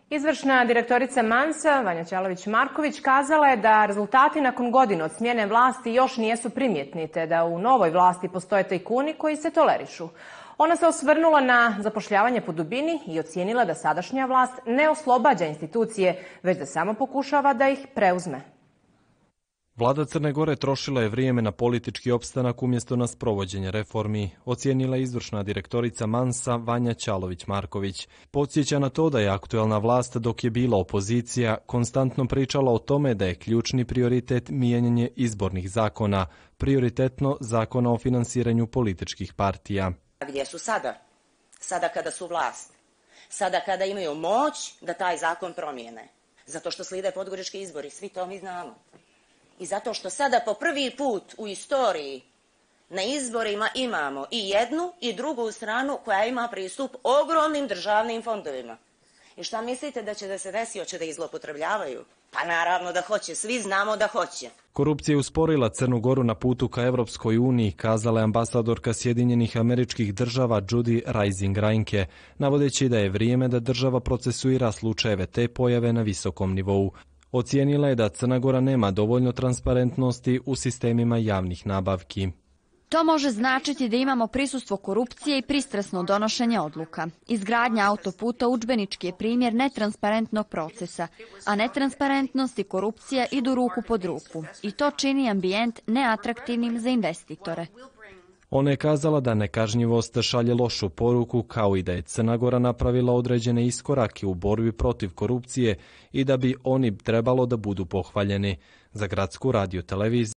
Izvršna direktorica Mansa, Vanja Ćalović-Marković, kazala je da rezultati nakon godina od smjene vlasti još nijesu primjetni, te da u novoj vlasti postoje tajkuni koji se tolerišu. Ona se osvrnula na zapošljavanje po dubini i ocijenila da sadašnja vlast ne oslobađa institucije, već da samo pokušava da ih preuzme. Vlada Crne Gore trošila je vrijeme na politički opstanak umjesto na sprovođenje reformi, ocijenila izvršna direktorica Mansa Vanja Ćalović-Marković. Podsjeća na to da je aktuelna vlast, dok je bila opozicija, konstantno pričala o tome da je ključni prioritet mijenjanje izbornih zakona, prioritetno zakona o finansiranju političkih partija. Gdje su sada? Sada kada su vlast. Sada kada imaju moć da taj zakon promijene. Zato što slijede podgorički izbori, svi to mi znamo. I zato što sada po prvi put u istoriji na izborima imamo i jednu i drugu stranu koja ima pristup ogromnim državnim fondovima. I šta mislite da će da se desi? Hoće da ih zloupotrebljavaju? Pa naravno da hoće, svi znamo da hoće. Korupcija je usporila Crnu Goru na putu ka Evropskoj uniji, kazala je ambasadorka Sjedinjenih Američkih Država Judy Reising-Reinke, navodeći da je vrijeme da država procesuira slučajeve te pojave na visokom nivou. Ocijenila je da Crna Gora nema dovoljno transparentnosti u sistemima javnih nabavki. To može značiti da imamo prisustvo korupcije i pristrasno donošenje odluka. Izgradnja autoputa udžbenički je primjer netransparentnog procesa, a netransparentnost i korupcija idu ruku pod ruku. I to čini ambijent neatraktivnim za investitore. Ona je kazala da nekažnjivost šalje lošu poruku, kao i da je Crna Gora napravila određene iskorake u borbi protiv korupcije i da bi oni trebalo da budu pohvaljeni. Za Gradsku radioteleviziju